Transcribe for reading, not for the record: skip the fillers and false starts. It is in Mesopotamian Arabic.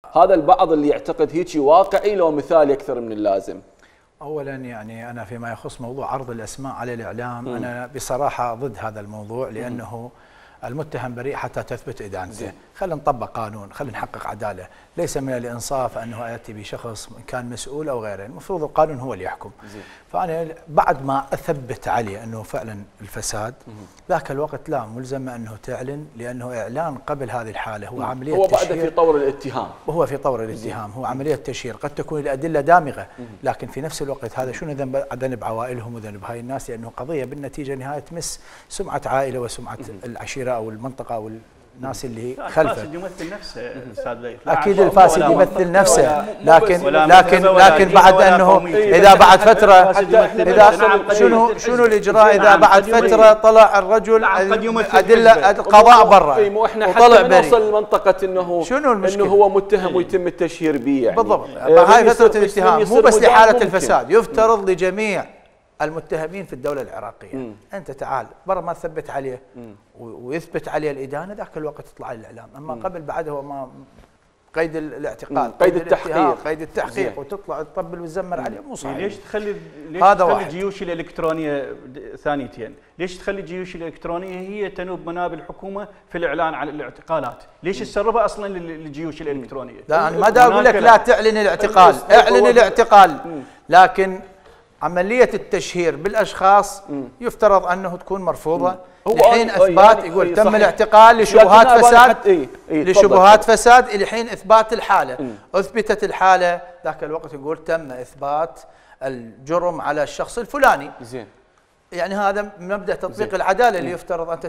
هذا البعض اللي يعتقد هيك واقعي لو مثالي اكثر من اللازم. اولا يعني انا فيما يخص موضوع عرض الاسماء على الاعلام انا بصراحه ضد هذا الموضوع، لانه المتهم بريء حتى تثبت ادانته. خلينا نطبق قانون، خلينا نحقق عداله، ليس من الانصاف انه اتي بشخص كان مسؤول او غيره، المفروض القانون هو اللي يحكم. فانا بعد ما اثبت عليه انه فعلا الفساد، ذاك الوقت لا ملزمه انه تعلن، لانه اعلان قبل هذه الحاله هو عمليه هو تشهير. بعد في طور الاتهام. وهو في طور الاتهام، هو عمليه تشهير، قد تكون الادله دامغه، لكن في نفس الوقت هذا شنو ذنب عوائلهم وذنب هاي الناس، لانه قضيه بالنتيجه نهايه تمس سمعه عائله وسمعه العشيره او المنطقه او الناس اللي خلفه. الفاسد يمثل نفسه استاذ ليث. اكيد الفاسد يمثل نفسه، لكن بعد انه اذا بعد فتره، اذا شنو الاجراء اذا بعد فتره طلع الرجل ادله القضاء برا مو احنا حتى نوصل لمنطقه انه شنو المشكله؟ انه هو متهم ويتم التشهير به يعني. بالضبط، هاي فتره الاتهام مو بس لحاله الفساد، يفترض لجميع المتهمين في الدولة العراقية. أنت تعال برا ما تثبت عليه ويثبت عليه الإدانة، ذاك الوقت تطلع الإعلام. أما قبل بعد هو ما قيد الاعتقال، قيد التحقيق وتطلع تطبل وتزمر عليه، مو صحيح. ليش تخلي الجيوش الإلكترونية ثانيتين؟ ليش تخلي الجيوش الإلكترونية هي تنوب مناب الحكومة في الإعلان على الاعتقالات؟ ليش تسربها أصلا للجيوش الإلكترونية؟ لا أنا ما دا أقول لك لا تعلن الاعتقال، اعلن الاعتقال، لكن عملية التشهير بالأشخاص يفترض أنه تكون مرفوضة لحين إثبات، يعني يقول تم الاعتقال لشبهات فساد، لشبهات فساد لحين إثبات الحالة. أثبتت الحالة ذاك الوقت يقول تم إثبات الجرم على الشخص الفلاني. زين، يعني هذا مبدأ تطبيق العدالة اللي يفترض أن